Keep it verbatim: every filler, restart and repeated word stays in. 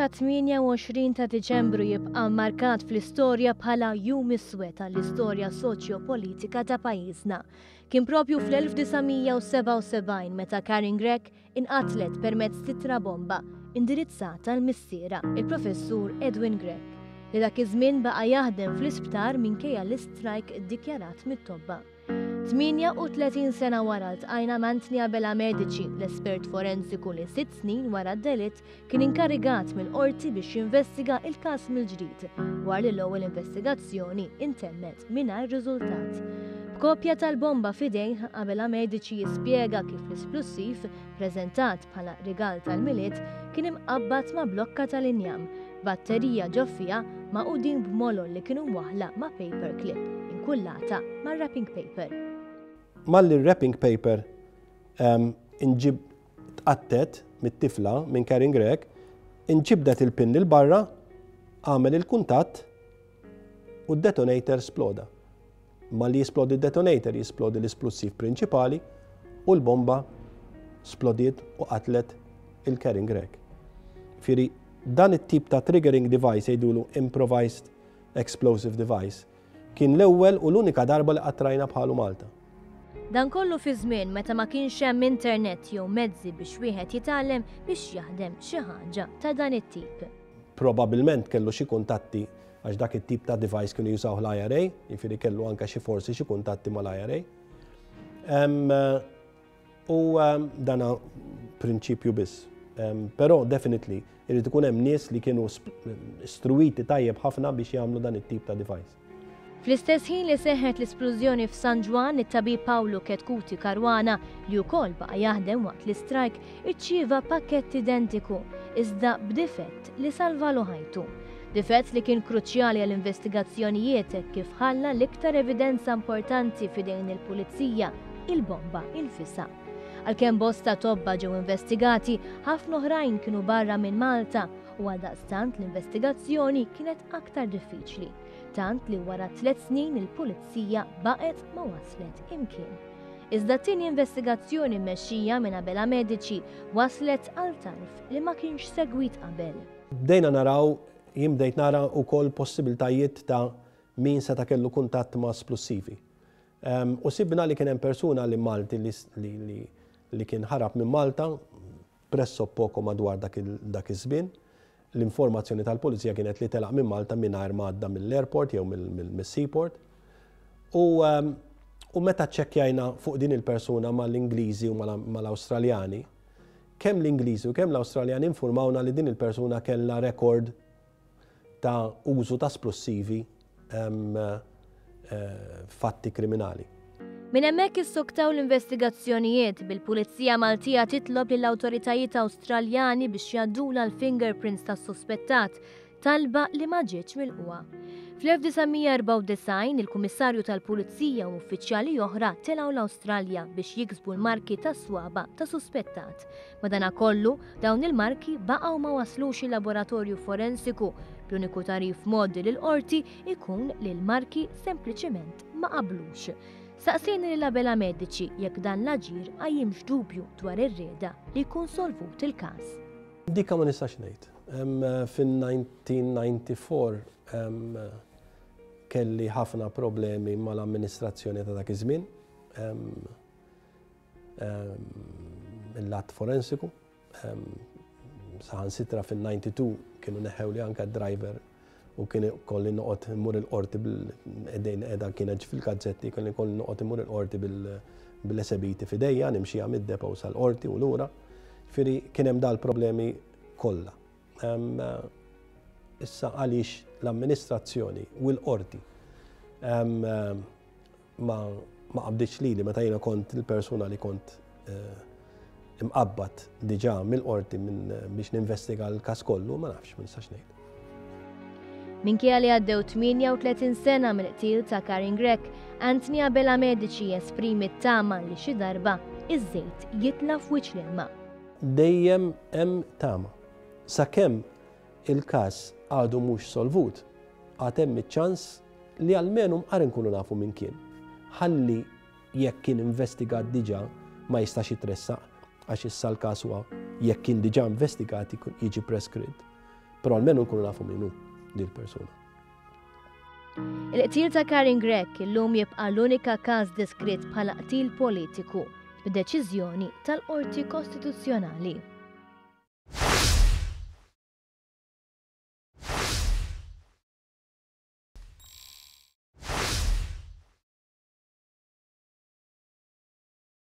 tat-tmienja u għoxrin ta' Diċembru jibqa' markat fl-istorja bħala jum iswed għall-istorja soċjo-politika ta' pajjiżna. Kien propju fl-elf disa' mija u sebgħa u sebgħin meta Karin Grech inqatlet permezz t'ittra bomba indirizzata lil missierha, il-professur Edwin Grech, li dak iż-żmien baqa' jaħdem fl-isptar minkejja l-istrajk iddikjarat mit-tobba. tmienja u tletin sena wara ltqajna m'Anthony Abela Medici, l-espert forensiku li sitt snin wara d-delitt kien inkarigat mill-qorti biex jinvestiga il-każ mill-ġdid, wara li l-ewwel investigazzjoni intemmet mingħajr riżultat. B'kopja tal-bomba f'idejh, Abela Medici jispjega kif l-isplussiv, preżentat bħala rigal tal-Milied, kien imqabbad ma' blokka tal-injam, batterija ġo fiha magħqudin b'molol li kienu mwaħla ma' paperclip, inkullata ma' wrapping paper. Malli wrapping paper um, inġib tqattet mit-tifla minn Karin Grech, inġibdet il-pin 'il barra, għamel il-kuntatt u d-detonator sploda. Malli jisplodi d-detonator, jisplodi l-isplussiv prinċipali u l-bomba splodiet u qatlet lil Karin Grech. Ġifieri, dan it-tip ta' triggering device, jgħidulu improvised explosive device, kien l-ewwel u l-unika darba li qatt rajna bħalu Malta. Dan kollu fi żmien meta ma kienx hemm internet jew mezzi biex wieħed jitgħallem biex jaħdem xi ħaġa ta' dan it-tip. Probabilment kellu xi kuntatti, għax dak it-tip ta' device kienu jużaw l-I R A, jiġifieri kellu anke xi forsi xi kuntatti mal-I R A. U dana prinċipju biss. Però definitely irid ikun hemm nies li kienu istruwiti tajjeb ħafna biex jagħmlu dan it-tip ta' device. Fl-istess ħin li seħħet l-isplużjoni f'San Ġwann, it-tabib Pawlu Chetcuti Caruana, li wkoll baqa' jaħdem waqt l-istrajk, irċieva pakkett identiku, iżda b'difett li salvalu ħajtu. Difett li kien kruċjali għall-investigazzjonijiet kif ħalla l-iktar evidenza importanti f'idejn il-pulizija, il-bomba infisha. Għalkemm bosta tobba ġew investigati, ħafna oħrajn kienu barra minn Malta u għaldaqstant l-investigazzjoni kienet aktar diffiċli. Tant li wara tliet snin il-pulizija baqgħet ma waslet imkien. Iżda tieni investigazzjoni mmexxija minn Abela Medici waslet għal tarf li ma kienx segwit qabel. Bdejna naraw, jien bdejt nara wkoll possibiltajiet ta' min seta' kellu kuntatt ma' splussivi. U sibna li kien hemm persuna li Malti li, li, li kien ħarab minn Malta presso poco madwar dak iż-żmien. L-informazzjoni tal-pulizija kienet li telaq minn Malta mingħajr ma għadda mill-airport jew mill-seaport. U, u meta ċċekkjajna fuq din il-persuna mal-Ingliżi u mal-Awstraljani, kemm l-Ingliżi u kemm l-Awstraljani informawna li din il-persuna kella rekord ta' użu ta' splussivi fatti kriminali. Minn hemmhekk issoktaw l-investigazzjonijiet, bil-Pulizija Maltija titlob lill-awtoritajiet Awstraljani biex jgħaddula l-fingerprints tas-suspettat, talba li ma ġietx milqugħa. Fl-elf disa' mija u erbgħa u disgħin il-Kummissarju tal-Pulizija u uffiċjali oħra telgħu l-Awstralja biex jiksbu l-marki tas-swaba ta' suspettat. Madanakollu, dawn il-marki baqgħu ma waslux il-laboratorju forensiku. L-uniku tagħrif mogħti lill-qorti ikun li l-marki sempliċement ma qablux. Saqsejna lil Abela Medici jekk dan l-aġir qajjimx dubju dwar ir-rieda li jkun solvut il-każ. Dika ma nistax ngħid. Fin-elf disa' mija u disgħa u disgħin kelli ħafna problemi mal-amministrazzjoni ta' dak iż-żmien. Il-lat forensiku. Saħansitra fin-tnejn u disgħin kienu neħewli anka driver u kien kolli noqgħod immur il-qorti bil-edejn edha kienet fil-gazzetti, kelli kolli noqgħod immur il-qorti bil-esebiti f'idejja, nimxija mid-depo sal-qorti u lura. Ġifieri kien hemm dal-problemi kollha. Issa għaliex l-amministrazzjoni u l-qorti ma ma qabditx lili meta jiena kont il-persuna li kont eh, imqabbad diġà mill-qorti minn biex ninvestiga l-każ kollu, ma nafx, ma nistax ngħid. Minkejja li għaddew tmienja u tletin sena mill-qtil ta' Karin Grech, Anthony Abela Medici jesprimi t-tama li xi darba iż-żejt jitla' f'wiċċ l-ilma. Dejjem hemm tama. Sakemm il-każ għadu mhux solvut, għad hemm iċ-ċans li almenu mqar inkunu nafu min kien. Ħalli jekk kien investigat diġà ma jistax jitressaq, għax issa l-każ huwa jekk kien diġà investigat jiġi preskritt. Però almenu nkunu nafu min hu din persuna. Il-qtil ta' Karin Grech illum jibqa' l-unika każ deskritt bħala qtil politiku b'deċiżjoni tal-Qorti Kostituzzjonali.